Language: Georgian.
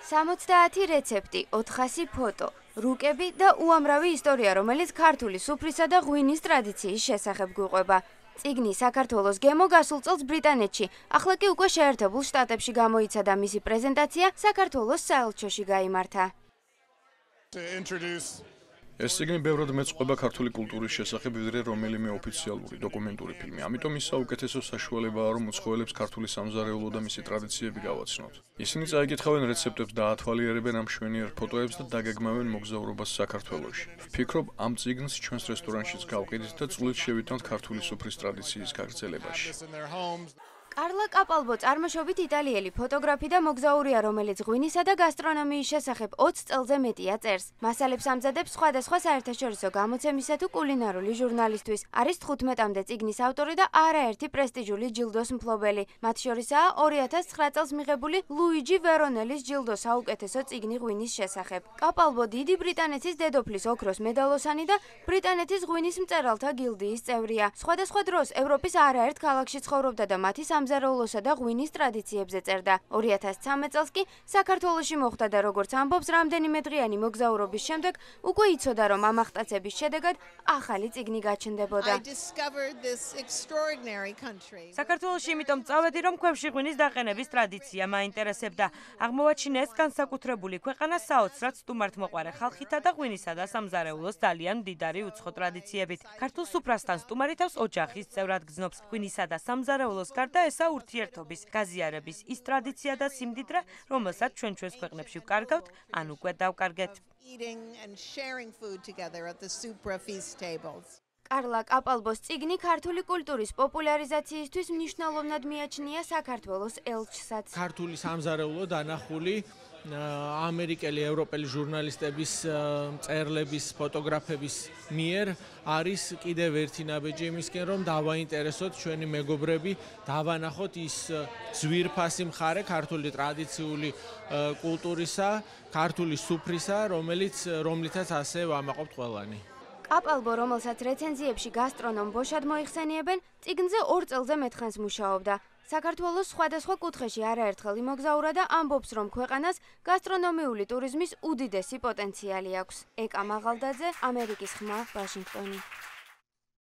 70 რეცეპტი, 400 ფოტო, რუკები და უამრავი ისტორია, რომელიც ქართული სუფრისა და ღვინის ტრადიციის შესახებ გვიყვება. წიგნი საქართველოს გემო გასულ წელს ბრიტანეთში, ახლა კი უკვე შეერთებულ შტატებში გამოიცა და მისი პრეზენტაცია საქართველოს საელჩოში გაიმართა. ეს წიგნი ბევრად მეწყობა ქართული კულტურის შესახებ, ვიდრე რომელიმე ოფიციალური დოკუმენტური ფილმი. ამიტომ ის საუკეთესო საშუალებაა, რომ უცხოელებს ქართული სამზარეულო და მისი ტრადიციები გავაცნოთ. ისინი წაიკითხავენ რეცეპტებს და ათვალიერებენ ამ მშვენიერ ფოტოებს და დაგეგმავენ მოგზაურობას საქართველოში. ვფიქრობ, ამ წიგნს ჩვენს რესტორანშიც გავყიდით და წვლილ შევიტანთ ქართული სუფრის ტრადიციის გაგრძელებაში. კარლა კაპალბო წარმოშობით იტალიელი ფოტოგრაფი და მოგზაურია, რომელიც ღვინისა და გასტრონომიის შესახებ 20 წელზე მეტია წერს. მასალებს ამზადებს სხვადასხვა საერთაშორისო გამოცემისა თუ კულინარული ჟურნალისთვის. არის 15-მდე წიგნის ავტორი და არაერთი პრესტიჟული ჯილდოს მფლობელი. მათ შორისაა 2009 წელს მიღებული ლუიჯი ვერონელის ჯილდო საუკეთესო წიგნი ღვინის შესახებ. კაპალბო დიდი ბრიტანეთის დედოფლის ოქროს მედალოსანი და ბრიტანეთის ღვინის მწერალთა გილდიის წევრია. სხვადასხვა დროს ევროპის არაერთ ქალაქში ცხოვრობდა და მათი სამზარეულოსა და ღვინის ტრადიციებზე წერდა. 2013 წელს კი საქართველოში მოხვდა და როგორც ამბობს, რამდენიმე დღიანი მოგზაურობის შემდეგ უკვე იცოდა, რომ ამ აღტაცების შედეგად ახალი წიგნი გაჩნდებოდა. საქართველოში იმიტომ წავედი, რომ ქვევში ღვინის დაყენების ტრადიცია მაინტერესებდა. აღმოვაჩინე ეს განსაკუთრებული ქვეყანა საოცრად სტუმართმოყვარე ხალხითა და ღვინისა და სამზარეულოს ძალიან მდიდარი უცხო ტრადიციებით. ქართულ სუფრასთან სტუმარი თავს ოჯახის წევრად გრძნობს. ღვინისა და სამზარეულოს გარდა ესა ურთიერთობის, გაზიარების ის ტრადიცია და სიმდიდრე, რომელსაც ჩვენს ქვეყნებში ვკარგავთ, ან უკვე დავკარგეთ. კარლა კაპალბოს წიგნი ქართული კულტურის პოპულარიზაციისთვის მნიშვნელოვნად მიაჩნია საქართველოს ელჩსაც. ქართული სამზარეულო დანახული ამერიკელი, ევროპელი ჟურნალისტების, მწერლების, ფოტოგრაფების მიერ არის კიდევ ერთი ნაბეჯი იმისკენ, რომ დავაინტერესოთ ჩვენი მეგობრები, დავანახოთ ის ძვირფასი მხარე ქართული ტრადიციული კულტურისა, ქართული სუფრისა, რომლითაც ასე ვამაყობთ ყველანი. კაპალბო, რომელსაც რეცენზიებში გასტრონომ ბოშად მოიხსენიებენ, წიგნზე 2 წელზე მეტხანს მუშაობდა. საქართველოს სხვადასხვა კუთხეში არაერთხელ იმოგზაურა და ამბობს, რომ ქვეყანას გასტრონომიული ტურიზმის უდიდესი პოტენციალი აქვს. ეკა მაღალდაძე, ამერიკის ხმა, ვაშინგტონი.